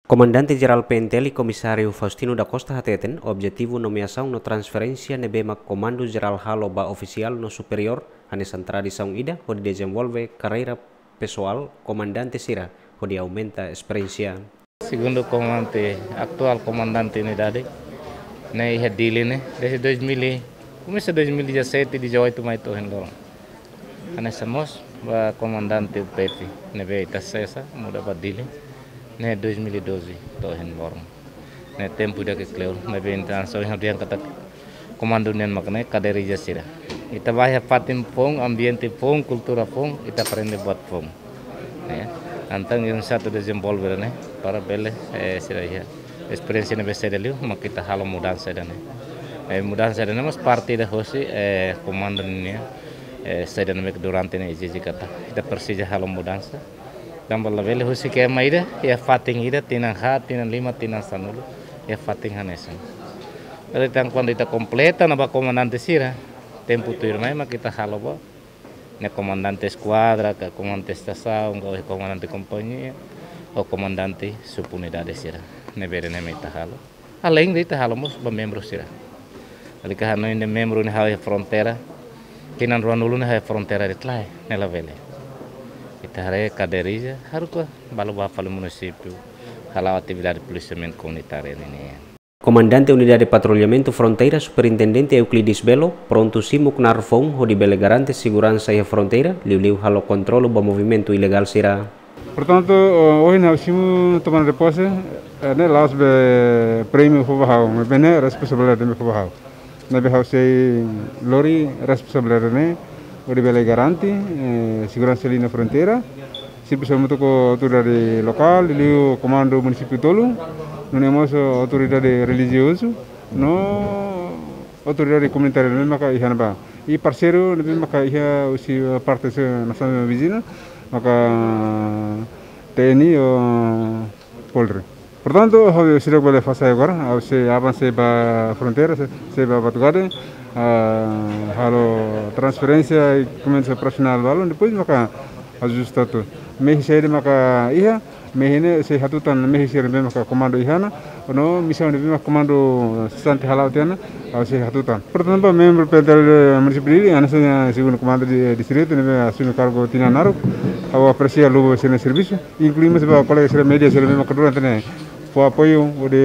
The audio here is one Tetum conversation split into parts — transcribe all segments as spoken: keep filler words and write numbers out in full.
Komandante Jerál P N T L, Komisáriu Faustino da Costa hateten, objetivu nomeasaun no transferénsia ne'ebé mak Komandu Jerál halo ba ofisiál no superiór, hanesan tradisaun ida hodi dezenvolve karreira pesoál komandante sira hodi aumenta esperiénsia. Segundu komandante, atuál komandante unidade, ne'e iha Dili ne'e, desde dois mil e, komesa dois mil e dezassete, dezoito mai to'o ohin loron. Hanesan mós ba komandante U P F, ne'ebé ita sesa, muda ba Dili, ne'e dois mil e doze to'o ohin loron. Ne'e tempu ida ke kleur, ne'ebé ita hanesan ohin ha'u dehan katak komandu nian mak ne'e kaderija sira. Ita ba iha fatin foun, ambiente foun, kultura foun, ita aprende buat foun. Ya. Entaun, iha satu dezenvolve ne'e, para bele, eh, sira iha esperiénsia ne'ebé saida liu, mak ita halo mudansa ida-ne'e. Eh, mudansa ida-ne'e mós parte ida hosi, eh, komandu nian, eh, saida ne'ebé ke durante ne'e ezije katak ita presiza halo mudansa. Tanba labele husik ema ida, iha fatin ida, tinan haat, tinan lima, tinan sanulu, iha fatin hanesan. Jadi, tan kuandu ita kompleta ona ba komandante sira, tempu tuirmai mak ita halo ba ne'e komandante eskuadra, ka komandante estasaun, ka komandante kompañia, ou komandante subunidade sira. Ne'ebé ne'e mak ita halo. Além de ita halo mós ba membru sira. Lalika hanoin dehan membru ne'e hahú iha fronteira, tinan ruanulu ne'e hahú iha fronteira de'it lae, ne'e labele. Ita haree kaderija, haruka balu ba fali munisípiu, hala'o atividade polisiamentu komunitáriu nian. Komandante Unidade Patrullamentu Fronteira, Superintendente Euclides Belo, prontu simu knaar foun hodi bele garante seguransa iha fronteira, liuliu halo kontrolu ba movimentu ilegál sira. Portantu, eh, ohin ha'u simu tomada de pose, eh, ne'e la'ós be prémiu fó ba ha'u, maibé ne'e responsabilidade ne'ebé fó ba ha'u. Ne'ebé ha'u sei lori responsabilidade ne'e, hodi bele garante, eh, seguransa iha fronteira, servisu hamutuk ho autoridade lokál, liuliu komandu munisípiu tolu, nune'e mós autoridade relijiozu, no autoridade komunitária ne'ebé maka iha ne'ebá. I parseiru ne'ebé maka iha husi parte nasaun viziñu, maka T N I ou Polri. Portantu, ha'u seidauk bele fó sai agora, ha'u sei avansa ba fronteira, sei, sei ba Batugade, ah, halo transferénsia i komesa profesionál balun, depois maka ajusta tuir. Mehi saida maka iha, mehi ne'e sei hatutan mehi sira ne'ebé maka komandu iha ona, no misaun ne'ebé maka komandu sesante hala'o tiha ona, ha'u sei hatutan. Portantu, membru P N T L munisípiu Dili, hanesan segundu komandante distritu, ne'ebé asume kargu tinan naruk, ha'u apresia luba sira-nia servisu, inklui mós ba kolega sira média sira ne'ebé maka durante ne'e fó apoiu hodi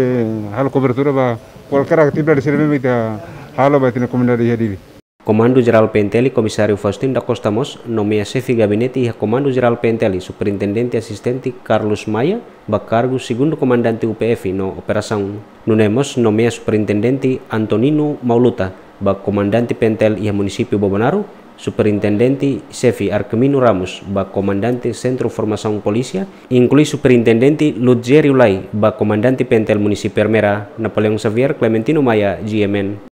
halo kobertura ba kualkér atividade sira ne'ebé ita halo ba ita-nia komunidade iha Dili. Komandu Jerál P N T L, Komisáriu Faustino da Costa mós nomeia xefe gabinete iha Komandu Jerál P N T L, Superintendente Asistente Carlos Maia, ba kargu segundu komandante U P F no operasaun. Nune'e mós nomeia Superintendente Antonino Mauluta ba komandante P N T L iha munisípiu Bobonaro, Superintendente Xefe Arquimino Ramos ba komandante Sentru Formasaun Polísia, inklui Superintendente Lugério Lai ba komandante P N T L munisípiu Ermera. Napoleão Xavier, Clementino Maia, G M N.